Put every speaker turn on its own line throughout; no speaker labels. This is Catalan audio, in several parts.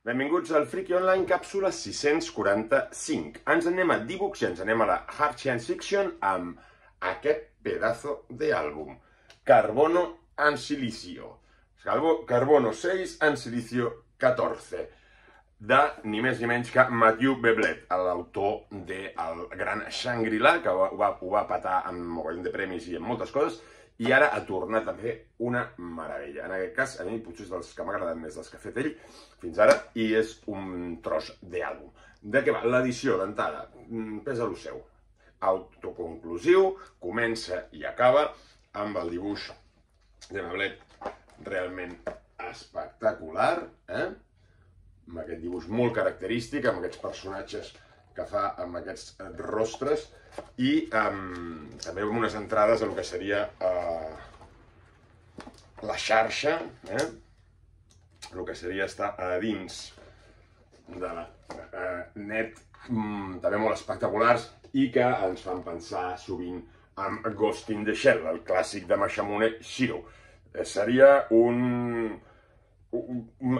Benvinguts al Friki Online, càpsula 645. Ens anem a D-Books i ens anem a la Hard Science Fiction amb aquest pedazo d'àlbum. Carbono and Silicio. Carbono 6 and Silicio 14. De ni més ni menys que Matthew Beblet, l'autor del gran Shangri-La, que ho va patar amb mogollon de premis i amb moltes coses, i ara ha tornat a fer una meravella. En aquest cas, a mi potser és dels que m'ha agradat més dels que ha fet ell fins ara, i és un tros d'àlbum. De què va? L'edició d'entrada, pesa lo seu. Autoconclusiu, comença i acaba amb el dibuix de Beblet realment espectacular, amb aquest dibuix molt característic, amb aquests personatges que fa amb aquests rostres, i també amb unes entrades a el que seria la xarxa, el que seria estar a dins de la net, també molt espectaculars, i que ens fan pensar sovint en Ghost in the Shell, el clàssic de Masamune Shirow.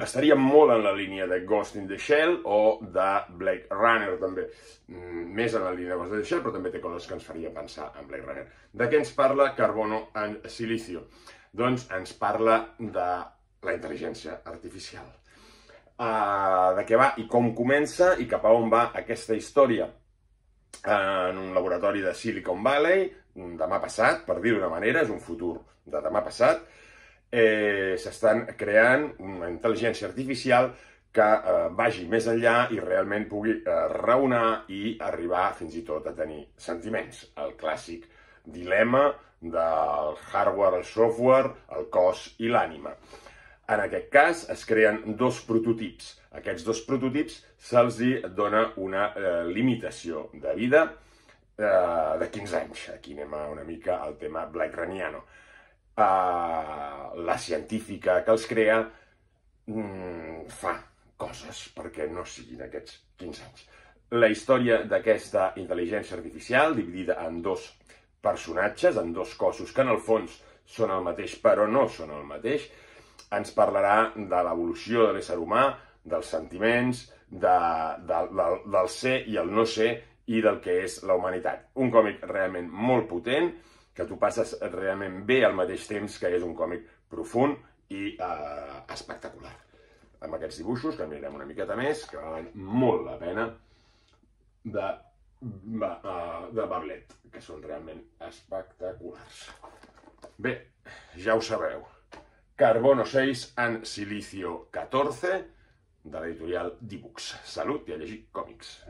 Estaria molt en la línia de Ghost in the Shell o de Blade Runner, també. Més en la línia de Ghost in the Shell, però també té coses que ens faria pensar en Blade Runner. De què ens parla Carbono and Silicio? Doncs ens parla de la intel·ligència artificial. De què va i com comença i cap a on va aquesta història. En un laboratori de Silicon Valley, demà passat, per dir-ho d'una manera, és un futur de demà passat, s'estan creant una intel·ligència artificial que vagi més enllà i realment pugui raonar i arribar fins i tot a tenir sentiments. El clàssic dilema del hardware, el software, el cos i l'ànima. En aquest cas es creen dos prototips. Aquests dos prototips se'ls dona una limitació de vida de 15 anys. Aquí anem una mica al tema Blade Runniano. La científica que els crea fa coses perquè no siguin aquests 15 anys. La història d'aquesta intel·ligència artificial, dividida en dos personatges, en dos cossos que en el fons són el mateix però no són el mateix, ens parlarà de l'evolució de l'ésser humà, dels sentiments, del ser i el no ser i del que és la humanitat. Un còmic realment molt potent, que tu passes realment bé al mateix temps, que és un còmic profund i espectacular. Amb aquests dibuixos, que mirem una miqueta més, que valen molt la pena, de Beblet, que són realment espectaculars. Bé, ja ho sabeu. Carbono 6 and Silicio 14, de l'editorial D-Books. Salut i a llegir còmics.